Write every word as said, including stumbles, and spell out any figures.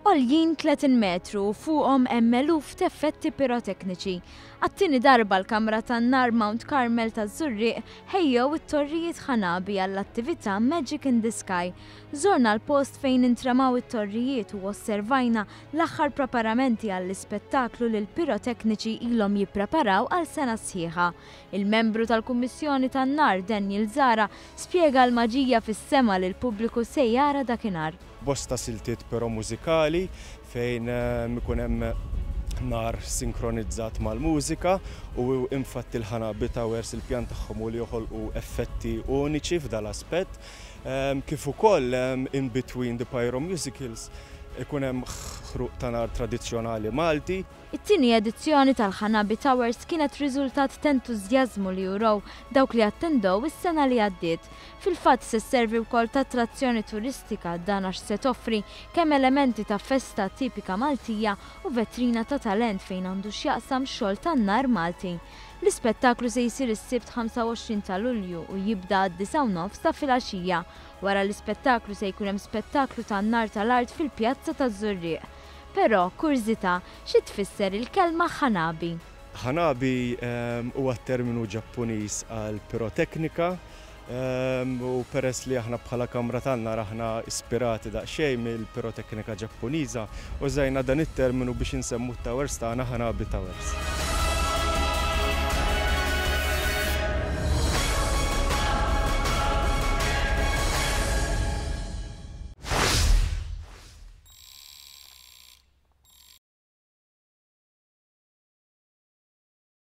Għoljin tletin metru u fuqhom hemm eluf t'effetti pirotekniċi. Għat-tieni darba l-Kamra tan-Nar Mount Carmel taż-Żurrieq ħejjew it-torrijiet Hanabi għall-attività Magic in the Sky. Żorna l-post fejn intramaw it-torrijiet u osservajna l-aħħar preparamenti għall-ispettaklu li l-pirotekniċi ilhom jippreparaw għal sena sħiħa. Il-membru tal-Kummissjoni tan-Nar Daniel Zara spjega l-maġija fis-sema li l-pubbliku se jara dakinhar. Bosta siltiet però mużikali fejn ikun hemm nar sinkronizzat mal-mużika u infatti l-Hanabi Towers il-pjan tagħhom hu li joħolqu effetti uniċi f'dal-aspett. Kif ukoll in between the pyro musicals ikun hemm ħruq ta' nar tradizzjonali Malti. It-tieni edizzjoni tal-Hanabi Towers kienet riżultat t'entużjażmu li urew dawk li attendew is-sena li għaddiet. Fil-fatt se sservi wkoll ta' attrazzjoni turistika, dan għax se toffri kemm elementi ta' festa tipika Maltija u vetrina ta' talent fejn għandu x'jaqsam xogħol tan-nar Malti. L-ispettaklu se jsir is-Sibt ħamsa u għoxrin ta' Lulju u jibda għad-disgħa u nofs ta' filgħaxija. Wara l-ispettaklu se jkun hemm spettaklu tan-nar tal-art fil-pjazza taż-Żurrieq. Però, kurżità, xi tfisser il-kelma Hanabi? Hanabi huwa terminu Ġappuniż għal piroteknika u peress li aħna bħala Kamra tan-Nar aħna ispirati daqsxejn mill-piroteknika Ġappuniża, użajna dan it-terminu biex insemmu t-towers tagħna Hanabi Towers.